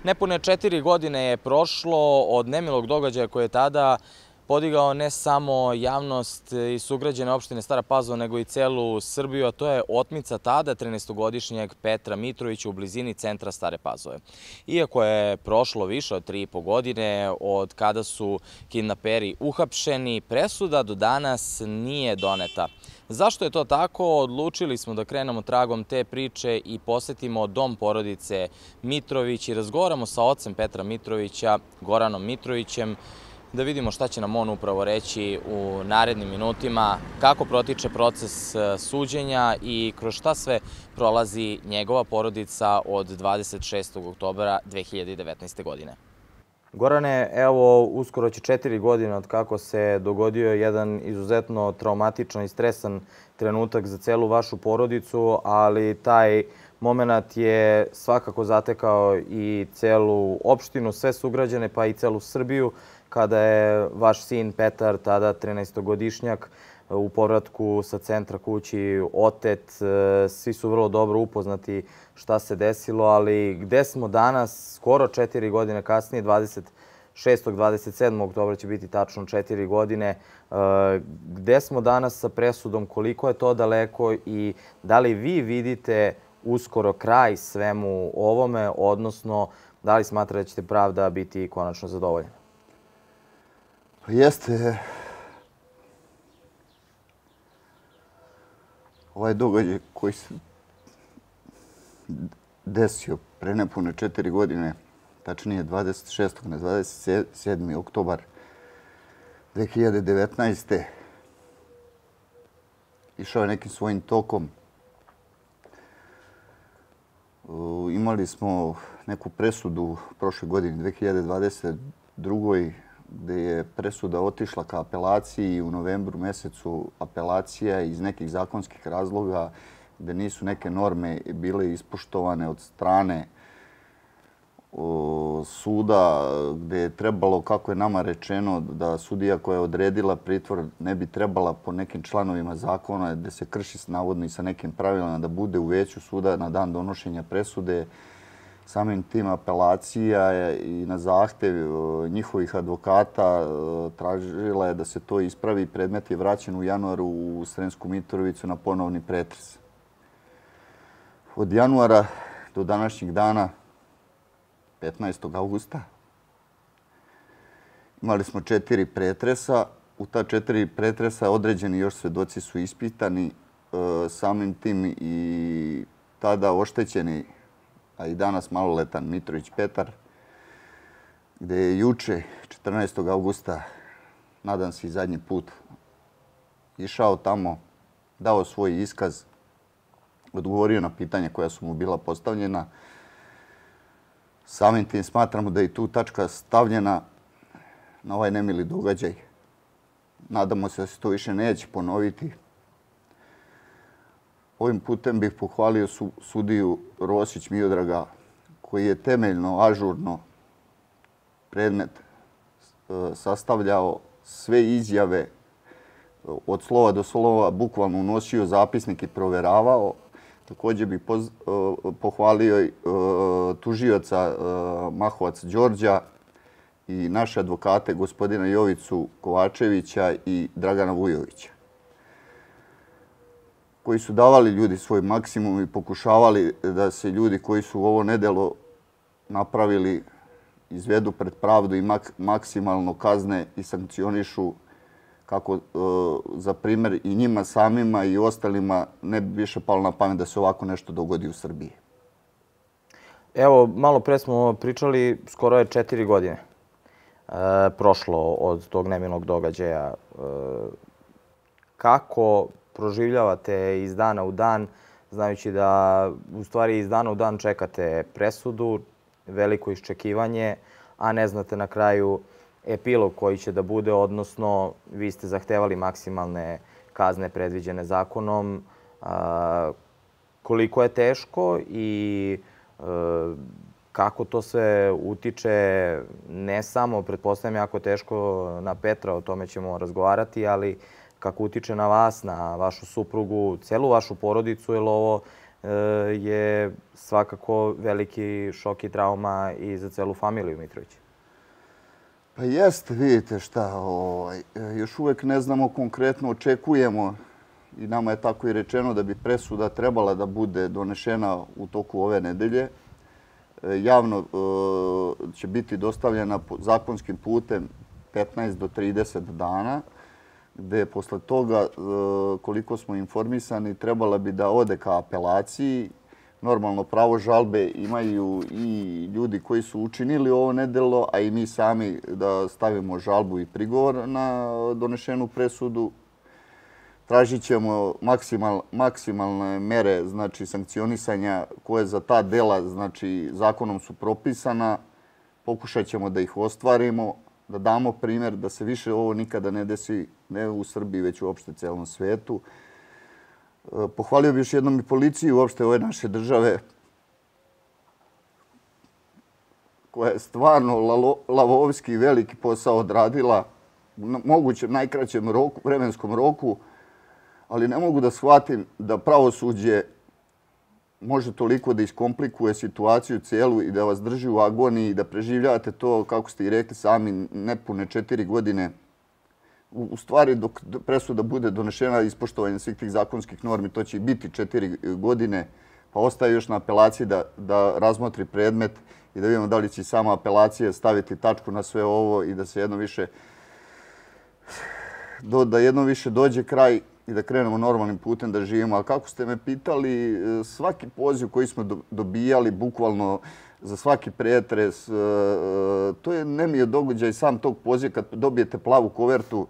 Nepune 4 godine je prošlo od nemilog događaja koje je tada podigao ne samo javnost i sugrađane opštine Stara Pazova, nego i celu Srbiju, a to je otmica tada 13-godišnjeg Petra Mitrovića u blizini centra Stare Pazove. Iako je prošlo više od 3,5 godine od kada su kidnaperi uhapšeni, presuda do danas nije doneta. Zašto je to tako? Odlučili smo da krenemo tragom te priče i posetimo dom porodice Mitrović i razgovaramo sa ocem Petra Mitrovića, Goranom Mitrovićem, da vidimo šta će nam on upravo reći u narednim minutima, kako protiče proces suđenja i kroz šta sve prolazi njegova porodica od 26. oktobra 2019. godine. Gorane, evo, uskoro će 4 godine od kako se dogodio jedan izuzetno traumatičan i stresan trenutak za celu vašu porodicu, ali taj moment je svakako zatekao i celu opštinu, sve sugrađane, pa i celu Srbiju, kada je vaš sin Petar, tada 13-godišnjak, u povratku sa centra kući otet. Svi su vrlo dobro upoznati šta se desilo, ali gde smo danas, skoro 4 godine kasnije, 26. 27. oktobra će biti tačno 4 godine. Gde smo danas sa presudom, koliko je to daleko i da li vi vidite uskoro kraj svemu ovome, odnosno da li smatrate da ćete pravda biti konačno zadovoljena? Jeste. Ovaj događaj koji se desio pre nepune 4 godine, tačnije 26. na 27. oktobar 2019. išao je nekim svojim tokom. Imali smo neku presudu prošle godine, 2022. gde je presuda otišla ka apelaciji i u novembru mesecu apelacija iz nekih zakonskih razloga gde nisu neke norme bile ispoštovane od strane suda, gde je trebalo, kako je nama rečeno, da sudija koja je odredila pritvor ne bi trebala po nekim članovima zakona, gde se krši navodno i sa nekim pravilima, da bude u veću suda na dan donošenja presude. Samim tim apelacija i na zahtev njihovih advokata tražila je da se to ispravi. Predmet je vraćen u januaru u Sremsku Mitrovicu na ponovni pretres. Od januara do današnjeg dana, 15. augusta, imali smo 4 pretresa. U ta 4 pretresa određeni još svedoci su ispitani. Samim tim i tada oštećeni, a i danas maloletan Mitrović Petar, gde je juče, 14. augusta, nadam se i zadnji put, išao tamo, dao svoj iskaz, odgovorio na pitanja koja su mu bila postavljena. Samim tim smatramo da je tu tačka stavljena na ovaj nemili događaj. Nadamo se da se to više neće ponoviti. Ovim putem bih pohvalio sudiju Rosić Miodraga, koji je temeljno, ažurno predmet sastavljao, sve izjave od slova do slova, bukvalno unosio zapisnik i proveravao. Također bih pohvalio tužioca Mahovac Đorđa i naše advokate, gospodina Jovicu Kovačevića i Dragana Vujovića, koji su davali ljudi svoj maksimum i pokušavali da se ljudi koji su ovo nedelo napravili izvedu pred pravdu i maksimalno kazne i sankcionišu, kako za primjer i njima samima i ostalima ne bi više palo na pamet da se ovako nešto dogodi u Srbiji. Evo, malo pre smo pričali, skoro je 4 godine prošlo od tog nemilog događaja. Kako proživljavate iz dana u dan, znajući da u stvari iz dana u dan čekate presudu, veliko iščekivanje, a ne znate na kraju epilog koji će da bude, odnosno vi ste zahtevali maksimalne kazne predviđene zakonom. Koliko je teško i kako to sve utiče, ne samo, pretpostavljam, jako teško na Petra, o tome ćemo razgovarati, ali kako utiče na vas, na vašu suprugu, celu vašu porodicu, jer ovo je svakako veliki šok i trauma i za celu familiju Mitrović. Pa jeste, vidite šta, još uvijek ne znamo konkretno, očekujemo i nama je tako i rečeno da bi presuda trebala da bude donešena u toku ove nedelje. Javno će biti dostavljena zakonskim putem 15 do 30 dana, gde posle toga, koliko smo informisani, trebala bi da ode ka apelaciji. Normalno, pravo žalbe imaju i ljudi koji su učinili ovo nedelo, a i mi sami da stavimo žalbu i prigovor na donešenu presudu. Tražit ćemo maksimalne mere, znači sankcionisanja koje za ta dela, znači zakonom su propisana. Pokušat ćemo da ih ostvarimo, da damo primjer da se više ovo nikada ne desi, ne u Srbiji, već uopšte celom svetu. Pohvalio bih još jednom i policiju uopšte ove naše države, koja je stvarno lavovski veliki posao odradila u mogućem najkraćem vremenskom roku, ali ne mogu da shvatim da pravosuđe može toliko da iskomplikuje situaciju cijelu i da vas drži u agoniji i da preživljavate to, kako ste i rekli sami, nepune 4 godine. U stvari, dok presuda bude donešena ispoštovanje svih tih zakonskih normi, to će i biti 4 godine, pa ostaje još na apelaciji da razmotri predmet i da vidimo da li će sama apelacija staviti tačku na sve ovo i da se jednom više dođe kraj i da krenemo normalnim putem da živimo. A kako ste me pitali, svaki poziv koji smo dobijali, bukvalno za svaki pretres, to je nemio događaj sam tog poziva. Kad dobijete plavu kovertu,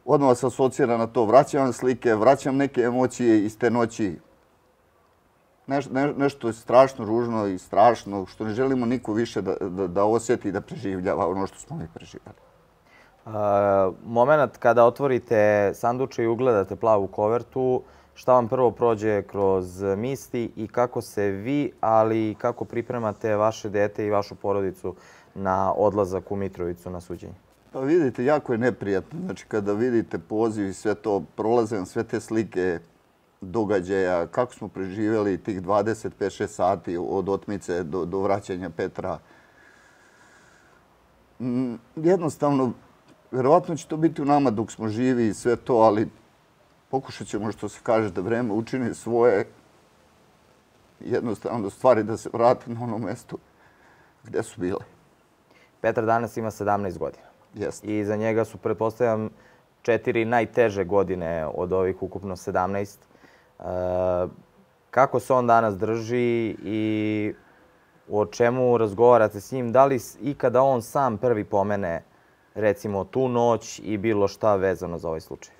odmah vas asocira na to. Vraćam vam slike, vraćam neke emocije iz te noći. Nešto je strašno ružno i strašno, što ne želimo niko više da osjeti i da preživljava ono što smo mi preživjeli. Moment kada otvorite sanduče i ugledate plavu kovertu, šta vam prvo prođe kroz misli i kako se vi, ali i kako pripremate vaše dete i vašu porodicu na odlazak u Mitrovicu na suđenje? Pa vidite, jako je neprijatno. Znači, kada vidite poziv i sve to, prolaze sve te slike događaja, kako smo preživjeli tih 25-6 sati od otmice do vraćanja Petra. Jednostavno, verovatno će to biti u nama dok smo živi i sve to, ali pokušat ćemo, što se kaže, da vreme učini svoje, jednostavno stvari da se vrate na ono mesto gde su bile. Petar danas ima 17 godina. Jeste. I za njega su, pretpostavljam, 4 najteže godine od ovih ukupno 17. Kako se on danas drži i o čemu razgovarate s njim? Da li ikada on sam prvi pomene, recimo, tu noć i bilo šta vezano za ovaj slučaj?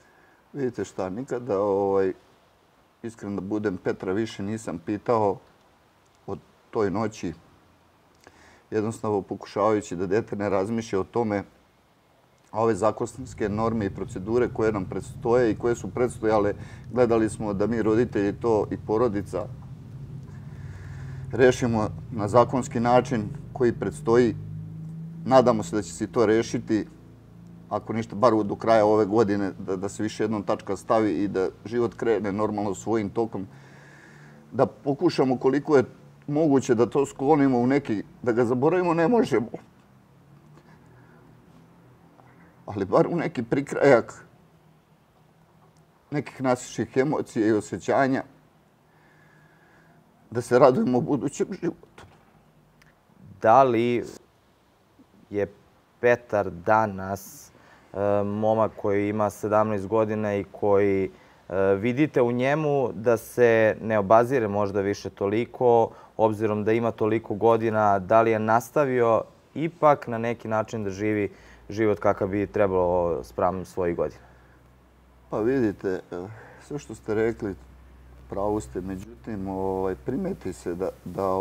Vidite šta, nikada, iskreno da budem, Petra više nisam pitao o toj noći. Jednostavno pokušavajući da dete ne razmišlja o tome, a ove zakonske norme i procedure koje nam predstoje i koje su predstojale, gledali smo da mi roditelji to i porodica rešimo na zakonski način koji predstoji. Nadamo se da će se to rešiti, ako ništa, bar do kraja ove godine, da se više jednom tačka stavi i da život krene normalno svojim tokom. Da pokušamo koliko je moguće da to sklonimo u neki, da ga zaboravimo ne možemo. Ali bar u neki prikrajak nekih naših emocija i osjećanja, da se radujemo budućem životu. Da li je Petar danas momak koji ima 17 godina i koji vidite u njemu da se ne obazire možda više toliko, obzirom da ima toliko godina, da li je nastavio ipak na neki način da živi život kakav bi trebalo spram svojih godina? Pa vidite, sve što ste rekli, pravo ste, međutim, primeti se da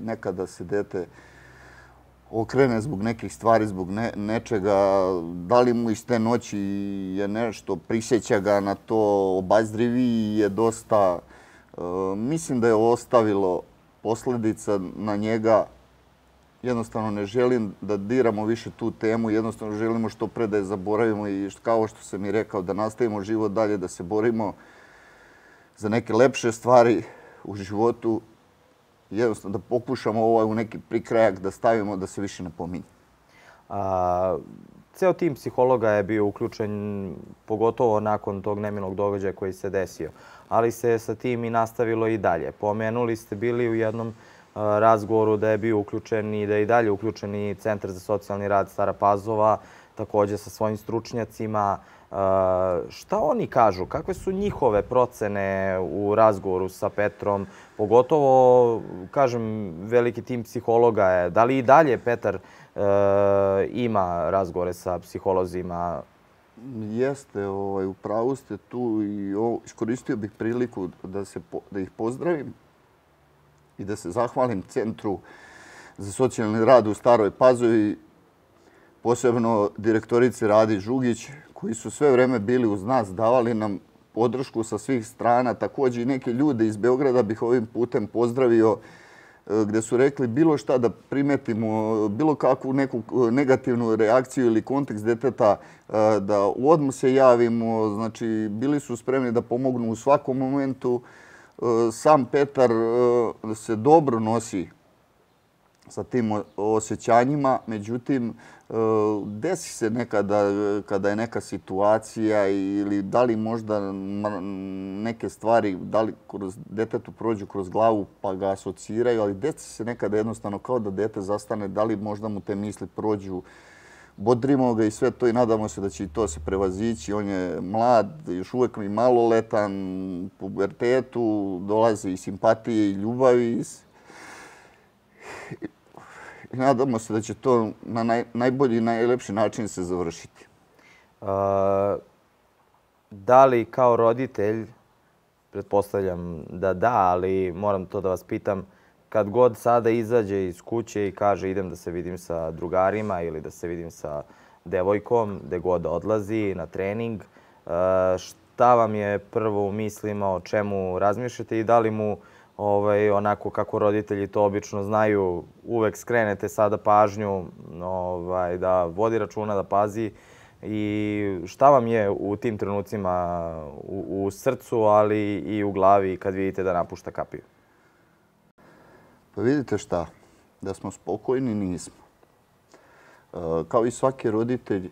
nekada se dete okrene zbog nekih stvari, zbog nečega, da li mu iz te noći je nešto, prisjeća ga na to, obazriviji je dosta. Mislim da je ostavilo posljedica na njega. Jednostavno ne želim da diramo više tu temu, jednostavno želimo što pre da je zaboravimo i kao što sam i rekao, da nastavimo život dalje, da se borimo za neke lepše stvari u životu, jednostavno da pokušamo u neki prikrajak da stavimo da se više ne pominje. Ceo tim psihologa je bio uključen, pogotovo nakon tog nemilog događaja koji se desio, ali se sa tim i nastavilo i dalje. Pomenuli ste bili u jednom razgovoru da je bio uključen i da je i dalje uključen i Centar za socijalni rad Stara Pazova, također sa svojim stručnjacima. Šta oni kažu? Kakve su njihove procene u razgovoru sa Petrom? Pogotovo, kažem, veliki tim psihologa je. Da li i dalje Petar ima razgovore sa psiholozima? Jeste, u pravu ste tu i iskoristio bih priliku da ih pozdravim i da se zahvalim Centru za socijalni rad u Staroj Pazovi, posebno direktorici Radi Žugić, koji su sve vreme bili uz nas, davali nam podršku sa svih strana. Također i neke ljude iz Beograda bih ovim putem pozdravio, gdje su rekli bilo šta da primetimo, bilo kakvu neku negativnu reakciju ili kontekst deteta, da odmah se javimo. Znači, bili su spremni da pomognu u svakom momentu. Sam Petar se dobro nosi sa tim osjećanjima, međutim, desi se nekada kada je neka situacija ili da li možda neke stvari, da li detetu prođu kroz glavu pa ga asociraju, ali desi se nekada jednostavno kao da dete zastane, da li možda mu te misli prođu. Bodrimo ga i sve to i nadamo se da će i to se prevazići. On je mlad, još uvijek mi maloletan, u pubertetu, dolaze i simpatije i ljubavi. I nadamo se da će to na najbolji i najlepši način se završiti. Da li kao roditelj, pretpostavljam da, ali moram to da vas pitam, kad god sada izađe iz kuće i kaže idem da se vidim sa drugarima ili da se vidim sa devojkom, gde god odlazi na trening, šta vam je prvo u mislima, o čemu razmišljate i da li mu onako kako roditelji to obično znaju, uvek skrenete sada pažnju da vodi računa, da pazi i šta vam je u tim trenucima u srcu, ali i u glavi kad vidite da napušta kapiju? Pa vidite šta, da smo spokojni nismo. Kao i svaki roditelj,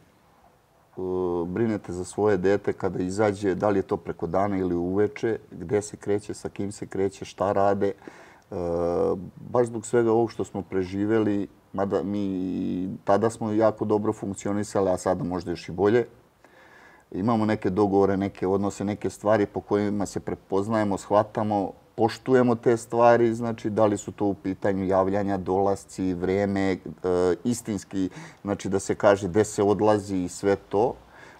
brinete za svoje dete kada izađe, da li je to preko dana ili uveče, gde se kreće, sa kim se kreće, šta rade. Baš zbog svega ovog što smo preživeli, mada mi tada smo jako dobro funkcionisali, a sada možda još i bolje. Imamo neke dogovore, neke odnose, neke stvari po kojima se prepoznajemo, shvatamo, poštujemo te stvari, znači da li su to u pitanju javljanja, dolasci, vreme, istinski, znači da se kaže gde se odlazi i sve to,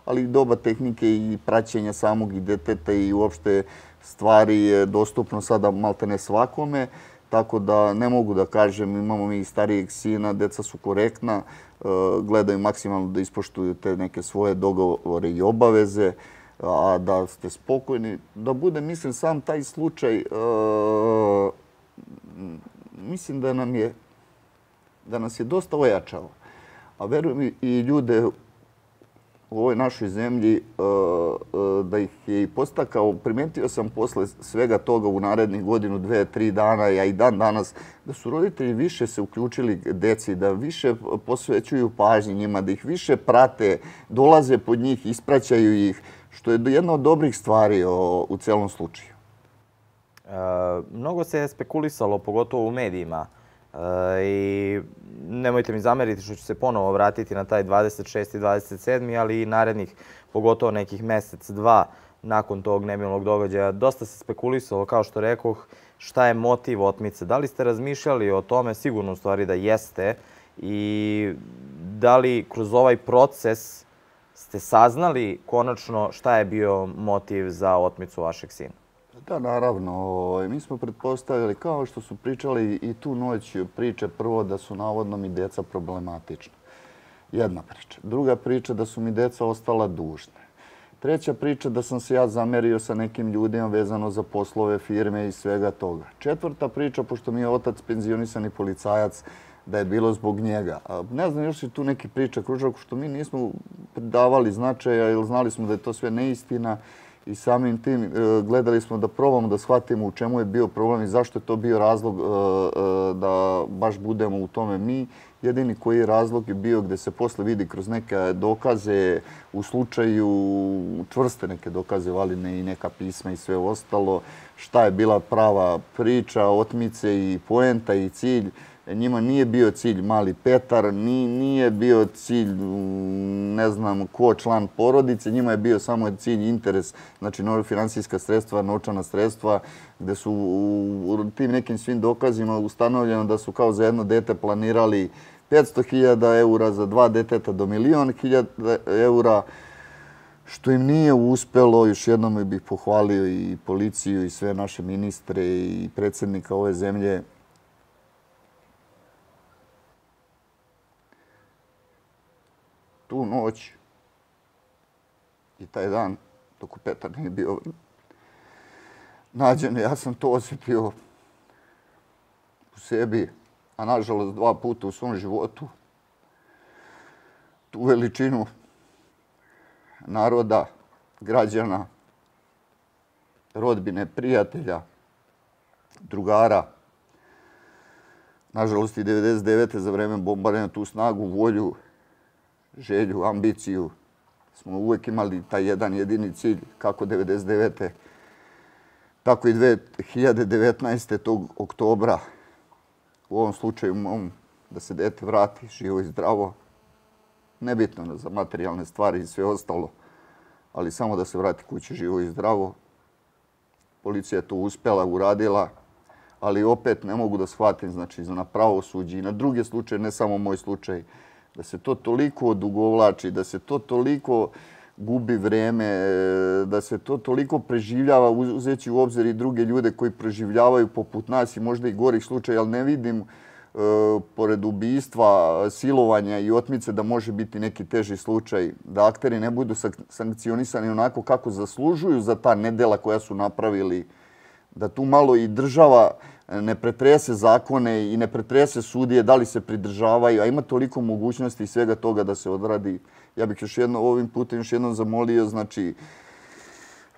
ali i doba tehnike i praćenja samog i deteta i uopšte stvari je dostupno sada maltene svakome, tako da ne mogu da kažem, imamo mi i starijeg sina, deca su korektna, gledaju maksimalno da ispoštuju te neke svoje dogovore i obaveze, a da ste spokojni, da bude, mislim, sam taj slučaj, mislim da nas je dosta ojačao. A verujem i ljude u ovoj našoj zemlji da ih je i postakao. Primetio sam posle svega toga u narednih godinu, 2-3 dana, a i dan danas, da su roditelji više se uključili deci, da više posvećuju pažnji njima, da ih više prate, dolaze pod njih, ispraćaju ih, što je jedna od dobrih stvari u celom slučaju. Mnogo se je spekulisalo, pogotovo u medijima, i nemojte mi zameriti što ću se ponovo vratiti na taj 26. i 27. ali i narednih, pogotovo nekih mesec, dva nakon tog nemilog događaja. Dosta se spekulisalo, kao što rekoh, šta je motiv otmice. Da li ste razmišljali o tome? Sigurno u stvari da jeste. I da li kroz ovaj proces ste saznali konačno šta je bio motiv za otmicu vašeg sina? Da, naravno. Mi smo pretpostavili, kao što su pričali i tu noć priče, prvo da su navodno mi deca problematična. Jedna priča. Druga priča da su mi deca ostala dužne. Treća priča da sam se ja zamerio sa nekim ljudima vezano za poslove firme i svega toga. Četvrta priča, pošto mi je otac penzionisani policajac, da je bilo zbog njega. Ne znam, još je tu neki priča kružak što mi nismo davali značaja ili znali smo da je to sve neistina i samim tim gledali smo da probamo da shvatimo u čemu je bio problem i zašto je to bio razlog da baš budemo u tome mi. Jedini koji je razlog je bio gde se posle vidi kroz neke dokaze, u slučaju čvrste neke dokaze, valine i neka pisma i sve ostalo, šta je bila prava priča, otmice i poenta i cilj. Njima nije bio cilj mali Petar, nije bio cilj ne znam ko član porodice, njima je bio samo cilj interes, znači finansijska sredstva, novčana sredstva, gde su u tim nekim svim dokazima ustanovljeno da su kao za jedno dete planirali 500.000 eura, za 2 deteta do 1.000.000 eura, što im nije uspelo. Još jednom bih pohvalio i policiju i sve naše ministre i predsjednika ove zemlje. Tu noć i taj dan, dok Petar nije bio nađen, ja sam to osjetio u sebi, a nažalost 2 puta u svom životu. Tu veličinu naroda, građana, rodbine, prijatelja, drugara. Nažalost i 99. za vreme bombardovanja tu snagu, volju, želju, ambiciju. Smo uvijek imali taj jedan jedini cilj, kako 99. tako i 2019. tog oktobra. U ovom slučaju mom, da se dete vrati živo i zdravo. Nebitno za materijalne stvari i sve ostalo, ali samo da se vrati kući živo i zdravo. Policija je to uspjela, uradila, ali opet ne mogu da shvatim, znači, na pravosuđe i na druge slučaje, ne samo moj slučaj, da se to toliko odugovlači, da se to toliko gubi vreme, da se to toliko preživljava, uzeći u obzir i druge ljude koji preživljavaju poput nas i možda i gorih slučaja, ali ne vidim pored ubistva, silovanja i otmice da može biti neki teži slučaj, da akteri ne budu sankcionisani onako kako zaslužuju za ta nedela koja su napravili, da tu malo i država ne pretrese zakone i ne pretrese sudije, da li se pridržavaju, a ima toliko mogućnosti i svega toga da se odradi. Ja bih ovim putem još jednom zamolio, znači,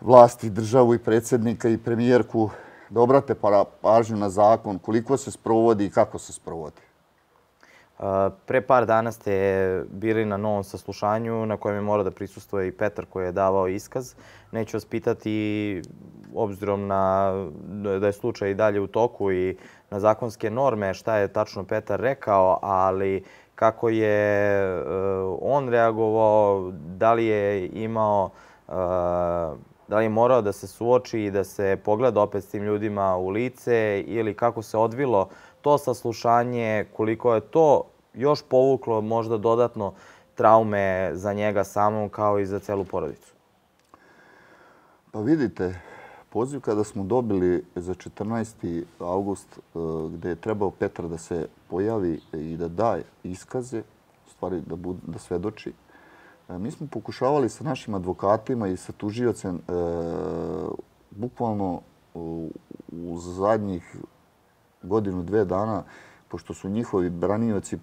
vlasti, državu i predsjednika i premijerku da obrate pažnju na zakon, koliko se sprovodi i kako se sprovodi. Pre par dana ste bili na novom saslušanju na kojem je morao da prisustvuje i Petar koji je davao iskaz. Neću vas pitati, obzirom da je slučaj i dalje u toku i na zakonske norme, šta je tačno Petar rekao, ali kako je on reagovao, da li je imao, da li je morao da se suoči i da se pogleda opet s tim ljudima u lice ili kako se odvilo to saslušanje, koliko je to još povuklo možda dodatno traume za njega samom kao i za celu porodicu? Pa vidite, poziv kada smo dobili za 14. avgust gde je trebao Petar da se pojavi i da da iskaze, u stvari da svedoči, mi smo pokušavali sa našim advokatima i sa tužiocem bukvalno u zadnjih 1-2 dana, pošto su njihovi branioci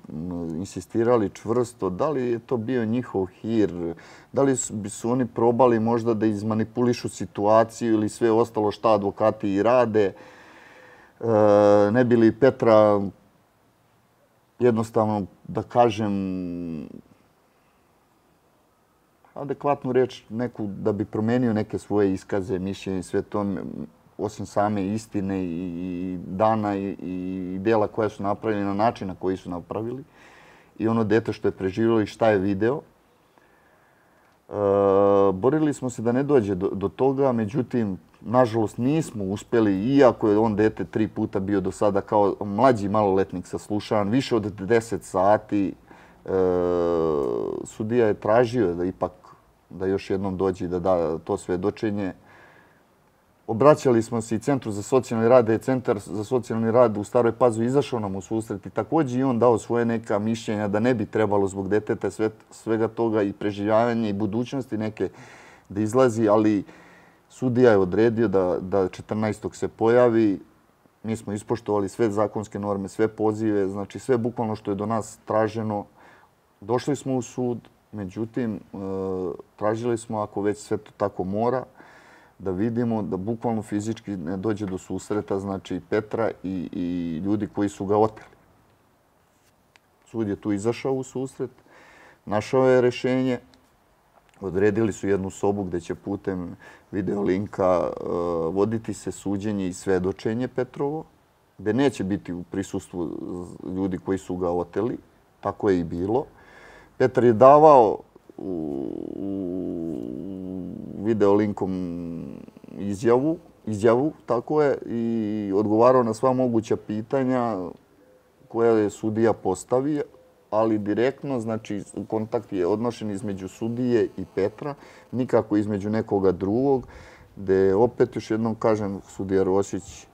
insistirali čvrsto, da li je to bio njihov hir, da li su oni probali možda da izmanipulišu situaciju ili sve ostalo šta advokati i rade, ne bi li Petra jednostavno, da kažem, adekvatnu reč, neku da bi promenio neke svoje iskaze, mišljenje i sve to, osim same istine i dana i dela koja su napravili na način na koji su napravili i ono dete što je preživjelo i šta je video. Borili smo se da ne dođe do toga, međutim, nažalost nismo uspjeli, iako je on dete 3 puta bio do sada kao mlađi maloletnik saslušan, više od 10 sati. Sudija je tražio da ipak da još jednom dođe i da da to svedočenje. Obraćali smo se i Centru za socijalni rad, da je Centar za socijalni rad u Staroj Pazovi izašao nam u susret i također i on dao svoje neka mišljenja da ne bi trebalo zbog deteta svega toga i preživljavanja i budućnosti neke da izlazi, ali sudija je odredio da 14. se pojavi. Mi smo ispoštovali sve zakonske norme, sve pozive, znači sve bukvalno što je do nas traženo. Došli smo u sud, međutim, tražili smo, ako već sve to tako mora, da vidimo da bukvalno fizički ne dođe do susreta, znači Petra i ljudi koji su ga oteli. Sud je tu izašao u susret, našao je rešenje, odredili su jednu sobu gde će putem video linka voditi se suđenje i svedočenje Petrovo, gde neće biti u prisustvu ljudi koji su ga oteli. Tako je i bilo. Petar je davao video linkom izjavu, tako je, i odgovarao na sva moguća pitanja koja je sudija postavio, ali direktno, znači kontakt je odnošen između sudije i Petra, nikako između nekoga drugog, gde opet još jednom kažem, sudija Rosić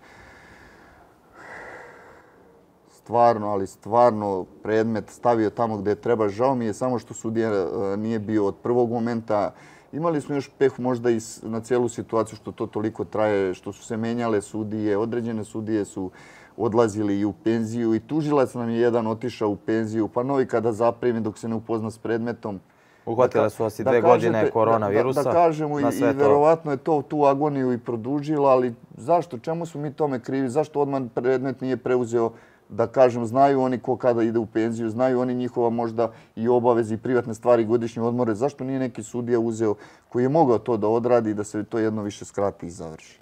stvarno predmet stavio tamo gde treba. Žao mi je samo što sudija nije bio od prvog momenta. Imali smo još peh možda i na cijelu situaciju što to toliko traje, što su se menjale sudije, određene sudije su odlazili i u penziju i tužilac nam je jedan otišao u penziju, pa novi kada zaprimi dok se ne upozna s predmetom. Uhvatile su vas i 2 godine koronavirusa. Da kažemo, i verovatno je to tu agoniju i produžilo, ali zašto? Čemu smo mi tome krivi? Zašto odmah predmet nije preuzeo? Da kažem, znaju oni ko kada ide u penziju, znaju oni njihova možda i obaveze i privatne stvari, godišnje odmore. Zašto nije neki sudija uzeo koji je mogao to da odradi i da se to jedno više skrati i završi?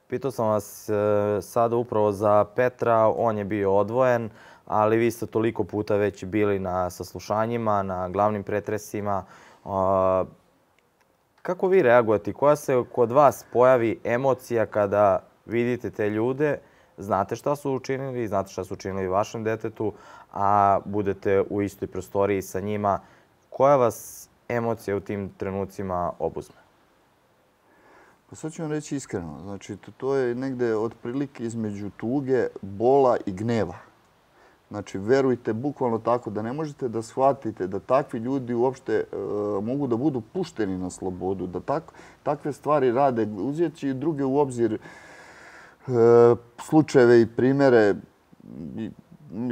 Pitao sam vas sada upravo za Petra, on je bio odvojen, ali vi ste toliko puta već bili na saslušanjima, na glavnim pretresima. Kako vi reagujete? Koja se kod vas pojavi emocija kada vidite te ljude? Znate šta su učinili, znate šta su učinili vašem detetu, a budete u istoj prostoriji sa njima. Koja vas emocija u tim trenucima obuzme? Pa sad ću vam reći iskreno. Znači, to je negde otprilike između tuge, bola i gneva. Znači, verujte, bukvalno tako, da ne možete da shvatite da takvi ljudi uopšte mogu da budu pušteni na slobodu, da takve stvari rade, uzeti druge u obzir slučajeve i primere.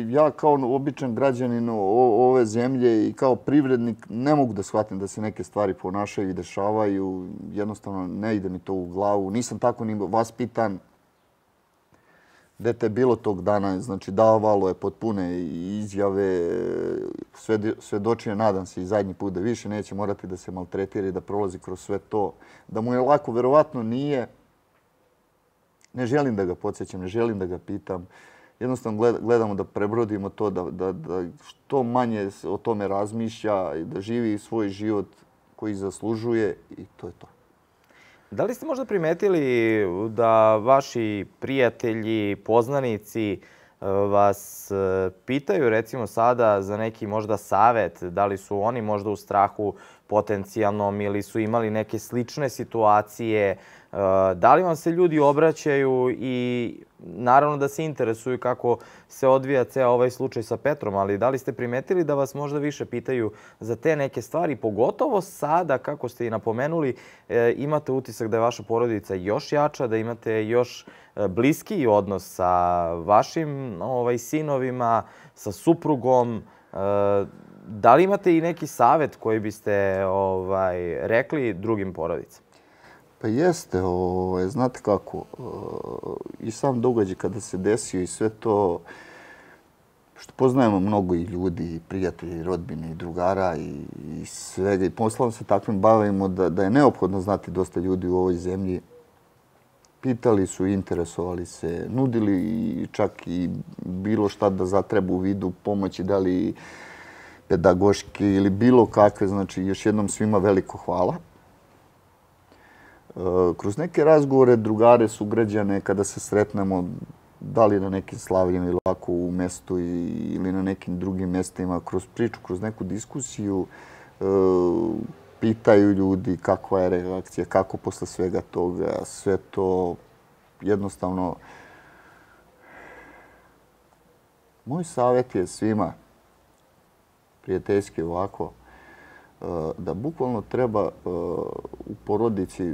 Ja kao običan građanin ove zemlje i kao privrednik ne mogu da shvatim da se neke stvari ponašaju i dešavaju. Jednostavno ne ide mi to u glavu. Nisam tako ni vaspitan. Dete je bilo tog dana, znači davalo je potpune izjave, svedočio, nadam se i zadnji put da više neće morati da se maltretira i da prolazi kroz sve to. Da mu je lako, verovatno nije. Ne želim da ga podsjećam, ne želim da ga pitam. Jednostavno gledamo da prebrodimo to, da što manje o tome razmišlja i da živi svoj život koji zaslužuje i to je to. Da li ste možda primetili da vaši prijatelji, poznanici vas pitaju recimo sada za neki možda savet? Da li su oni možda u strahu potencijalnom ili su imali neke slične situacije? Da li vam se ljudi obraćaju i naravno da se interesuju kako se odvija ceo ovaj slučaj sa Petrom, ali da li ste primetili da vas možda više pitaju za te neke stvari? Pogotovo sada, kako ste i napomenuli, imate utisak da je vaša porodica još jača, da imate još bliskiji odnos sa vašim sinovima, sa suprugom. Da li imate i neki savet koji biste rekli drugim porodicama? Pa jeste, znate kako, i sam događaj kada se desio i sve to, što poznajemo mnogo i ljudi, i prijatelji, i rodbine, i drugara, i svega, i poslom se takvim bavimo da je neophodno znati dosta ljudi u ovoj zemlji. Pitali su, interesovali se, nudili čak i bilo šta da zatreba u vidu pomoći, da li pedagoški ili bilo kakve, znači još jednom svima veliko hvala. Kroz neke razgovore, drugare, sugrađane, kada se sretnemo, da li na nekim slavljima ili ovako u mestu ili na nekim drugim mestima, kroz priču, kroz neku diskusiju, pitaju ljudi kakva je reakcija, kako posle svega toga, sve to jednostavno. Moj savjet je svima, prijateljski ovako, da bukvalno treba u porodici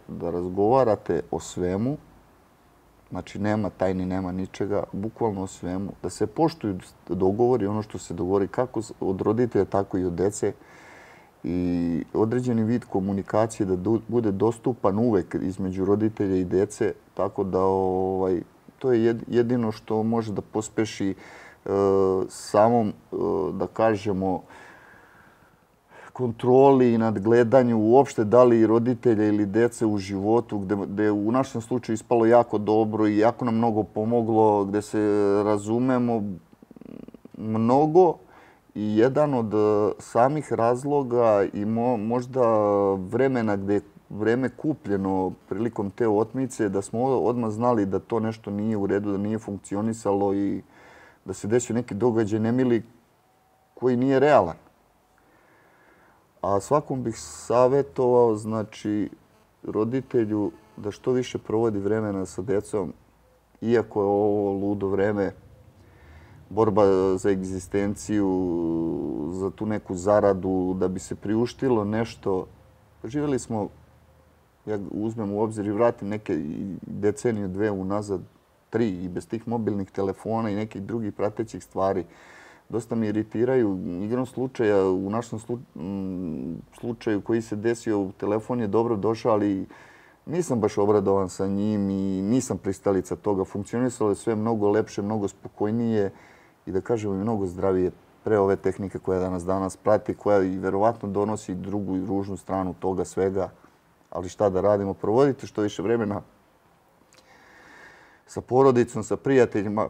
da razgovarate o svemu, znači nema tajni, nema ničega, bukvalno o svemu, da se poštuju dogovori, ono što se dogovori kako od roditelja, tako i od dece i određeni vid komunikacije da bude dostupan uvek između roditelja i dece, tako da to je jedino što može da pospeši samom, da kažemo, kontroli i nadgledanju uopšte da li roditelja ili dece u životu, gde je u našem slučaju ispalo jako dobro i jako nam mnogo pomoglo, gde se razumemo mnogo. I jedan od samih razloga i možda vremena gde je vreme kupljeno prilikom te otmice, da smo odmah znali da to nešto nije u redu, da nije funkcionisalo i da se desio neki događaj nemili koji nije realan. A svakom bih savjetovao, znači, roditelju da što više provodi vremena sa decom, iako je ovo ludo vreme, borba za egzistenciju, za tu neku zaradu, da bi se priuštilo nešto. Živjeli smo, ja uzmem u obzir i vratim neke deceniju, dve unazad, 3, i bez tih mobilnih telefona i nekih drugih pratećih stvari. Dosta mi iritiraju. Igrom slučaja, u našem slučaju koji se desio, telefon je dobro došao, ali nisam baš obradovan sa njim i nisam pristalica toga. Funkcionisalo je sve mnogo lepše, mnogo spokojnije i da kažemo i mnogo zdravije pre ove tehnike koja danas prati, koja i verovatno donosi drugu i ružnu stranu toga svega. Ali šta da radimo? Provodite što više vremena sa porodicom, sa prijateljima.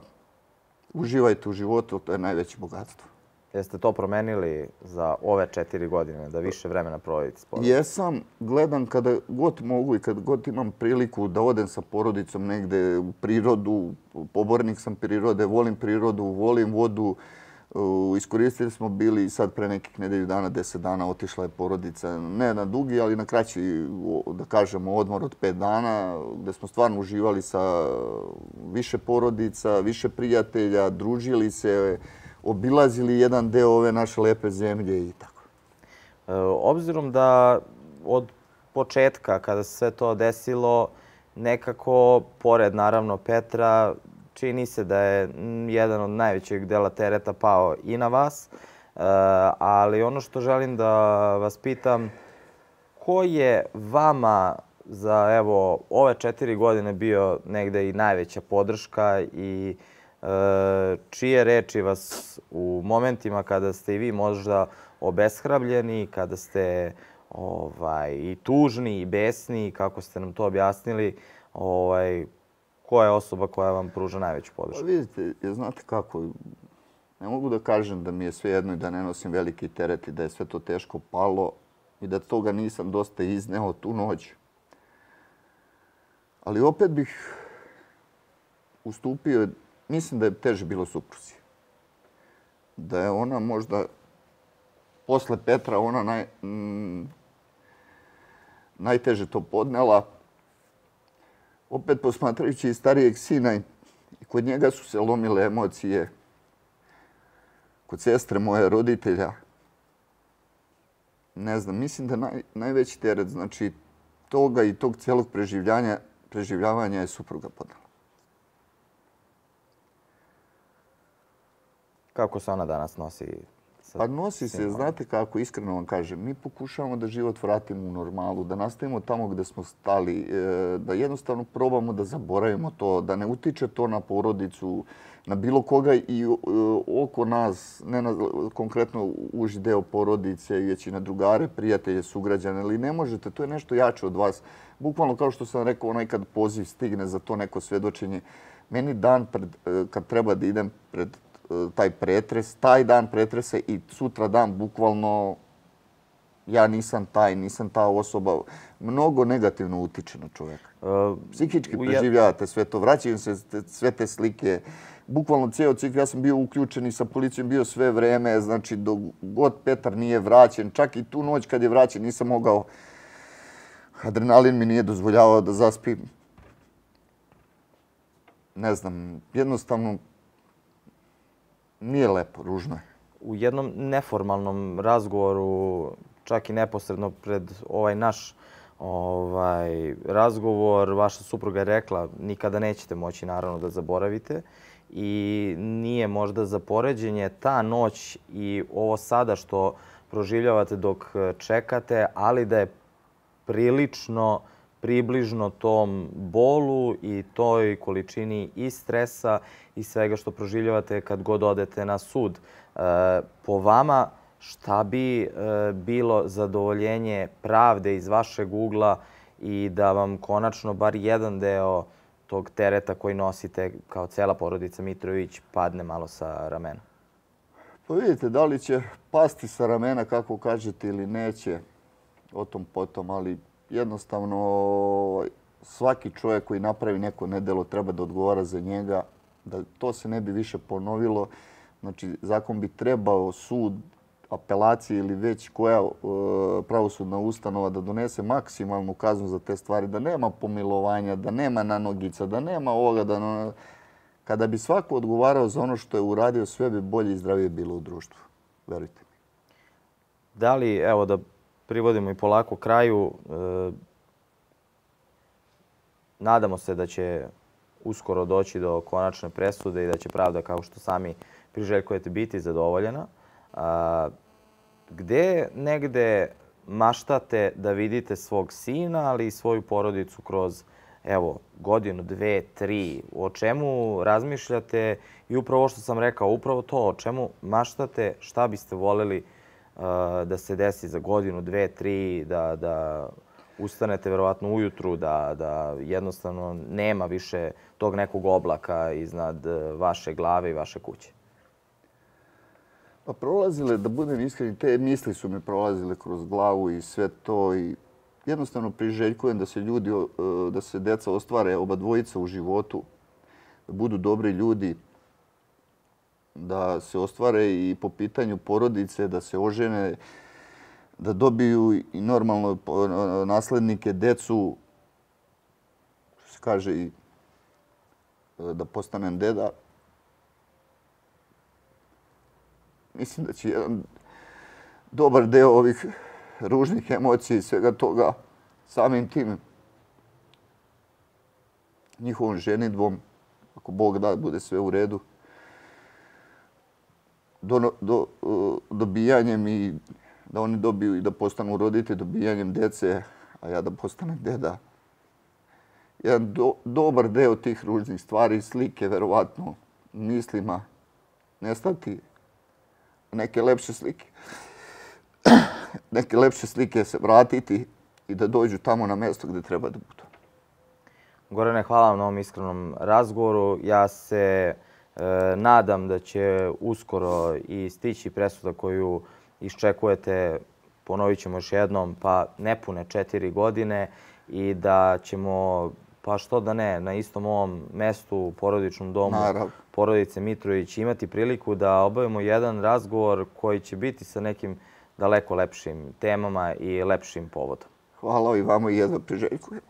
Uživajte u životu, to je najveće bogatstvo. Jeste to promenili za ove 4 godine, da više vremena provodite s porodicom? Jesam. Gledam kada god mogu i kada god imam priliku da odem sa porodicom negde u prirodu. Pobornik sam prirode, volim prirodu, volim vodu. Iskoristili smo bili sad pre nekih nedelju dana, 10 dana, otišla je porodica. Ne na dugi, ali na kraći, da kažemo, odmor od 5 dana, gde smo stvarno uživali sa više porodica, više prijatelja, družili se, obilazili jedan deo ove naše lepe zemlje i tako. Obzirom da od početka, kada se sve to desilo, nekako, pored naravno Petra, čini se da je jedan od najvećeg dela tereta pao i na vas, ali ono što želim da vas pitam, ko je vama za evo ove 4 godine bio negde i najveća podrška i čije reči vas u momentima kada ste i vi možda obeshrabljeni, kada ste i tužni i besni, kako ste nam to objasnili, koja je osoba koja vam pruža najveću podršku? Vidite, znate kako, ne mogu da kažem da mi je sve jedno i da ne nosim veliki teret i da je sve to teško palo i da toga nisam dosta izneo tu noć. Ali opet bih ustupio, mislim da je teže bilo supruzi. Da je ona možda, posle Petra, ona najteže to podnela. Opet posmatrajući i starijeg sina, i kod njega su se lomile emocije. Kod sestre moje roditelja. Ne znam, mislim da najveći teret, znači, toga i tog celog preživljavanja je supruga podnela. Kako se ona danas nosi? Pa nosi se, znate kako, iskreno vam kažem, mi pokušavamo da život vratimo u normalu, da nastavimo tamo gde smo stali, da jednostavno probamo da zaboravimo to, da ne utiče to na porodicu, na bilo koga i oko nas, ne na konkretno uži deo porodice, već i na drugare, prijatelje, sugrađane, ali ne možete, to je nešto jače od vas. Bukvalno kao što sam rekao, onaj kad poziv stigne za to neko svedočenje, meni dan kad treba da idem pred taj dan pretresa i sutra dan, bukvalno, ja nisam ta osoba. Mnogo negativno utiče na čoveka. Psihički preživljavate sve to, vraćaju se sve te slike. Bukvalno cijel cikl, ja sam bio uključen i sa policijom bio sve vreme, znači dok god Petar nije vraćen, čak i tu noć kad je vraćen nisam mogao, adrenalin mi nije dozvoljavao da zaspim. Ne znam, jednostavno, nije lepo, ružno je. U jednom neformalnom razgovoru, čak i neposredno pred ovaj naš razgovor, vaša supruga je rekla nikada nećete moći naravno da zaboravite i nije možda za poređenje ta noć i ovo sada što proživljavate dok čekate, ali da je prilično približno tom bolu i toj količini i stresa i svega što proživljavate kad god odete na sud. Po vama, šta bi bilo zadovoljenje pravde iz vašeg ugla i da vam konačno bar jedan deo tog tereta koji nosite kao cela porodica Mitrović padne malo sa ramena? Pa vidite, da li će pasti sa ramena, kako kažete, ili neće, o tom potom, ali jednostavno svaki čovjek koji napravi neko nedelo treba da odgovara za njega, da to se ne bi više ponovilo. Znači, zakon bi trebao sud, apelacije ili već koja pravosudna ustanova da donese maksimalnu kaznu za te stvari, da nema pomilovanja, da nema nanogica, da nema ovoga. Kada bi svako odgovarao za ono što je uradio, sve bi bolje i zdravije bilo u društvu. Verujte mi. Da li, evo da privodimo i polako kraju, nadamo se da će uskoro doći do konačne presude i da će pravda, kao što sami priželjkujete, biti zadovoljena. Gde negde maštate da vidite svog sina, ali i svoju porodicu kroz, evo, godinu, 2, 3? O čemu razmišljate? I upravo ovo što sam rekao, upravo to, o čemu maštate, šta biste voljeli da se desi za godinu, 2, 3, da ustanete verovatno ujutru, da jednostavno nema više tog nekog oblaka iznad vaše glave i vaše kuće? Pa prolazile, da budem iskren, te misli su mi prolazile kroz glavu i sve to. I jednostavno priželjkujem da se deca ostvare, oba dvojica u životu, da budu dobri ljudi, da se ostvare i po pitanju porodice, da se ožene, da dobiju i normalno naslednike, decu, što se kaže, i da postanem deda. Mislim da će jedan dobar deo ovih ružnih emocija i svega toga samim tim njihovom ženidbom, ako Bog da, bude sve u redu, dobijanjem i da oni dobiju i da postanu roditelji, dobijanjem dece, a ja da postanem deda. Jedan dobar deo tih ružnih stvari, slike, verovatno, mislima, nestati. Neke lepše slike. Neke lepše slike se vratiti i da dođu tamo na mjesto gdje treba da budu. Gorane, hvala vam na ovom iskrenom razgovoru. Ja se nadam da će uskoro i stići presuda koju iščekujete, ponovit ćemo još jednom, pa nepune 4 godine i da ćemo, pa što da ne, na istom ovom mestu, u porodičnom domu porodice Mitrović imati priliku da obavimo jedan razgovor koji će biti sa nekim daleko lepšim temama i lepšim povodom. Hvala i vama i jedva priželjkujem.